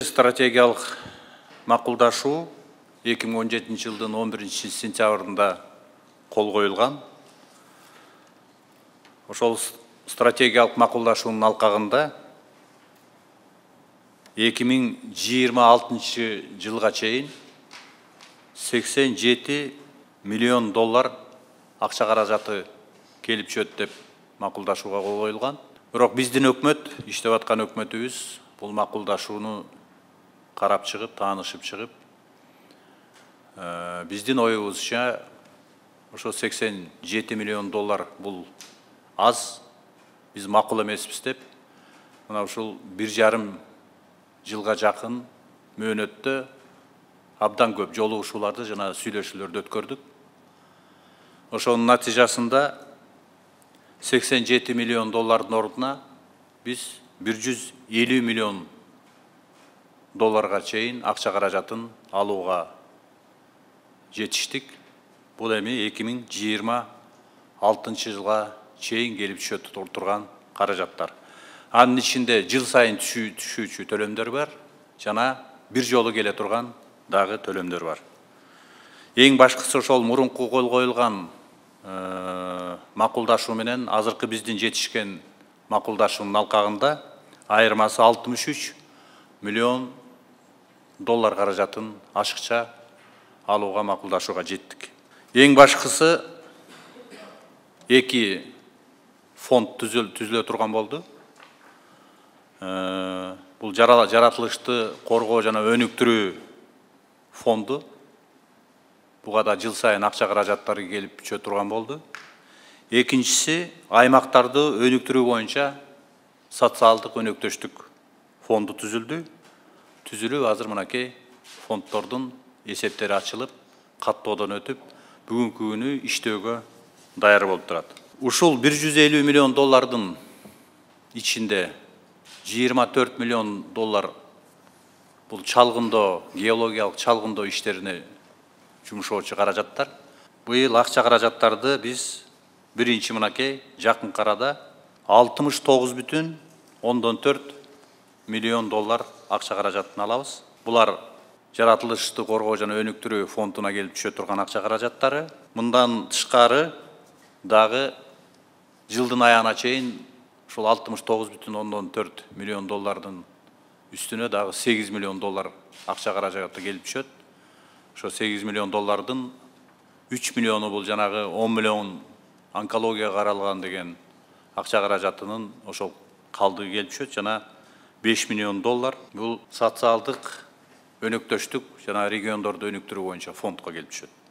Стратегиялык макулдашуу 2017 жылдын 11 сентябрында кол коюлган. Ошол стратегиялык макулдашуунун алкагында 2026 жылга чейин 87 миллион доллар акча каражаты келип түшөт деп макулдашууга кол коюлган. Бирок биздин өкмөт, иштеп аткан өкмөтүбүз бул макулдашууну карап чыгып, таанышып чыгып, биздин оюбузча ошо 87 миллион доллар бул аз, биз макул эмеспиз деп, мына ушул 1,5 жылга жакын мөөнөттө абдан көп жолугушууларды жана сүйлөшүүлөрдү өткөрдүк. Ошонун натыйжасында 87 миллион доллардын ордуна биз 150 миллион долларга чейин акча каражатын алууга жетиштик. Бул эми 2026 жылга чейин келип түшөт турган каражаттар. Анын ичинде жыл сайын түшүүчү төлөмдөр бар жана бир жолу келе турган дагы төлөмдөр бар. Эң башкысы ошол мурунку кол коюлган макулдашуу менен азыркы биздин жетишкен макулдашуунун алкагында айырмасы 63 миллион доллар каражатын ашыкча алууга макулдашууга жеттик. Эң башкысы эки фонд түзүлө турган болду. Бул жаратылышты коргоо жана өнүктүрүү фонду. Буга да жыл сайын акча каражаттары келип түшө турган болду. Экинчиси аймактарды өнүктүрүү боюнча социалдык өнөктөштүк фонду түзүлдү. Түзүлүп азыр мынакей фонддордун эсептери ачылып, каттоодон өтүп, бүгүнкү күнү иштөөгө даяр болуп турат. Ушул 150 миллион доллардын ичинде 24 миллион доллар бул чалгындоо, геологиялык чалгындоо иштерине жумшоочу каражаттар. Быйыл акча каражаттарды биз биринчи мынакей жакынкы арада 69,4 миллион доллар акча каражатын алабыз. Булар жаратылышты коргоо жана өнүктүрүү фондуна келип түшө турган акча каражаттары. Мындан тышкары дагы жылдын аягына чейин ушул 69,4 миллион доллардын үстүнө дагы 8 миллион доллар акча каражаты келип түшөт. Ошо 8 миллион доллардын 3 миллиону бул жанагы 10 миллион онкологияга каралган деген акча каражатынын ошол калдыгы келип түшөт жана 5 миллион доллар бул социалдык өнөктөштүк жана региондорду өнүктүрүү боюнча фондко келип түшөт.